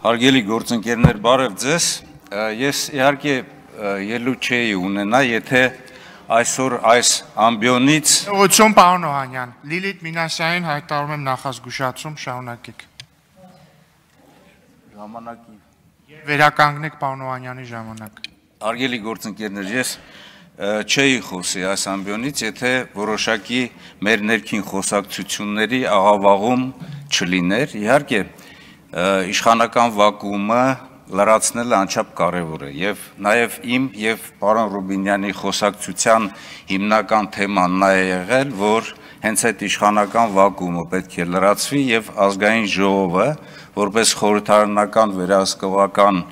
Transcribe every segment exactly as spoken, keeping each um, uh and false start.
Հարգելի գործընկերներ, բարև ձեզ։ Ես իհարկե ելույթ չէի ունենա, եթե այսօր այս ամբիոնից Ողջույն պարոն Օհանյան, Լիլիթ Մինասյանին հայտարարում եմ նախազգուշացում, շարունակեք։ Ժամանակի Վերականգնեք պարոն Օհանյանի ժամանակ։ Հարգելի գործընկերներ, ես չէի խոսի այս ամբիոնից, եթե որոշակի մեր ներքին խոսակցությունների աղավաղում չլիներ, իհարկե իշխանական վակուումը լրացնելը անչափ կարևոր է եւ նաեւ իմ եւ պարոն Ռուբինյանի խոսակցության հիմնական թեման նա է եղել, որ հենց այդ իշխանական վակուումը պետք է լրացվի եւ ազգային ժողովը որպես խորհրդարանական վերահսկողական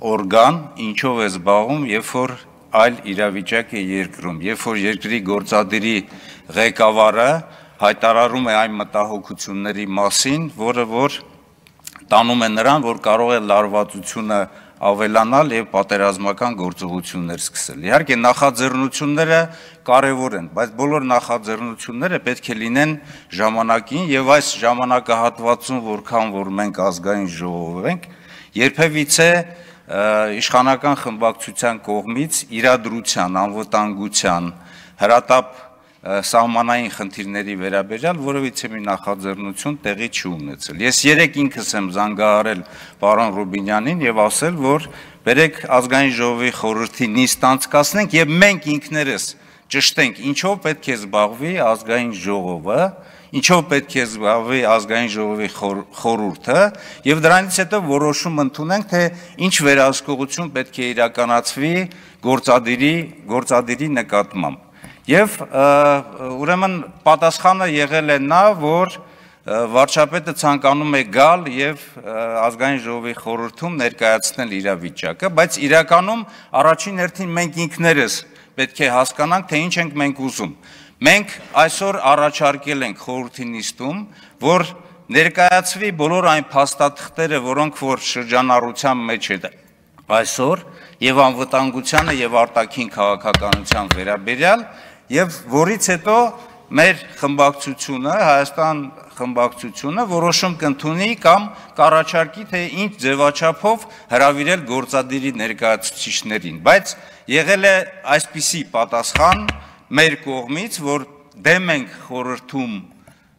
օրգան ինչով է զբաղվում, երբ որ այլ իրավիճակ է երկրում, երբ որ երկրի գործադիրի ղեկավարը հայտարարում է այն մտահոգությունների մասին, որը որ տանում է նրան, որ կարող է լարվածությունը ավելանալ եւ պատերազմական գործողություններ սկսել։ Իհարկե նախաձեռնությունները կարևոր են, բայց բոլոր նախաձեռնությունները պետք է լինեն ժամանակին եւ այս ժամանակահատվածում, որքան որ մենք ազգային ժողով ենք, երբևիցե իշխանական խմբակցության կողմից իրադրության, անվտանգության, հրատապ սահմանային խնդիրների վերաբերյալ որևիցե մի նախաձեռնություն տեղի չի ունեցել։ Ես երեք ինքս եմ զանգահարել պարոն Ռուբինյանին եւ ասել, որ բերեք ազգային ժողովի խորհրդի նիստ անցկացնենք եւ մենք ինքներս ճշտենք, ինչով պետք է զբաղվի ազգային ժողովը, ինչով պետք է զբաղվի ազգային ժողովի խորհուրդը եւ դրանից հետո որոշում ընդունենք, թե ինչ վերահսկողություն պետք է իրականացվի գործադիրի գործադիրի նկատմամբ։ Եվ ուրեմն պատասխանը եղել է նա, որ վարչապետը ցանկանում է գալ եւ ազգային ժողովի խորհրդում ներկայացնել իրավիճակը, բայց իրականում առաջին հերթին մենք ինքներս պետք է հասկանանք, թե ինչ ենք մենք ուզում։ Մենք այսօր առաջարկել ենք խորհրդի նիստում, որ ներկայացվի բոլոր այն փաստաթղթերը, որոնք որ շրջանառության մեջ է այսօր եւ անվտանգությանը եւ արտաքին քաղաքականության վերաբերյալ եւ որից հետո մեր խմբակցությունը, Հայաստան խմբակցությունը որոշում կընդունի կամ կառաջարկի, թե ինչ ձևաչափով հրավիրել գործադիրի ներկայացուցիչներին, բայց եղել է այսպիսի պատասխան մեր կողմից, որ դեմ ենք խորհրդում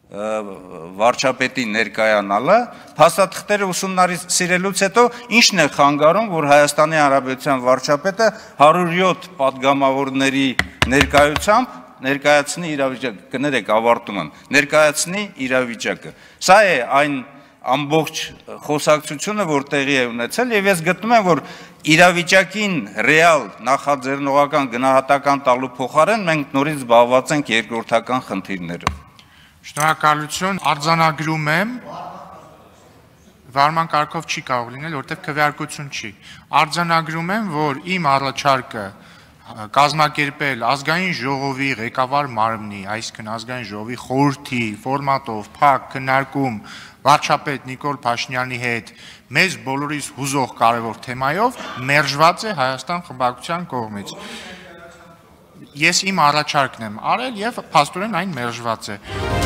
վարչապետի ներկայանալը, փաստաթղթերը ուսումնասիրելուց հետո ինչն է խանգարում, որ Հայաստանի Հանրապետության վարչապետը հարյուր յոթ պատգամավորների ներկայությամբ ներկայացնի իրավիճակը, կներեք ավարտում եմ, ներկայացնի իրավիճակը։ Սա է այն ամբողջ խոսակցությունը, որ տեղի է ունեցել եւ ես գտնում եմ, որ իրավիճակին ռեալ նախաձեռնողական գնահատական տալու փոխարեն մենք նորից զբաղված ենք երկրորդական խնդիրներով։ Շնորհակալություն, արձանագրում եմ, վարման կարգով չի կարող լինել, որտեղ քվեարկություն չի։ Արձանագրում եմ, որ իմ առաջարկը կազմակերպել ազգային ժողովի ղեկավար մարմնի, այսինքն ազգային ժողովի խորհրդի ֆորմատով փակ քննարկում վարչապետ Նիկոլ Փաշինյանի հետ մեզ բոլորիս հուզող կարևոր թեմայով մերժված է Հայաստան խմբակցության կողմից։ Ես իմ առաջարկն եմ արել եւ փաստորեն այն մերժված է։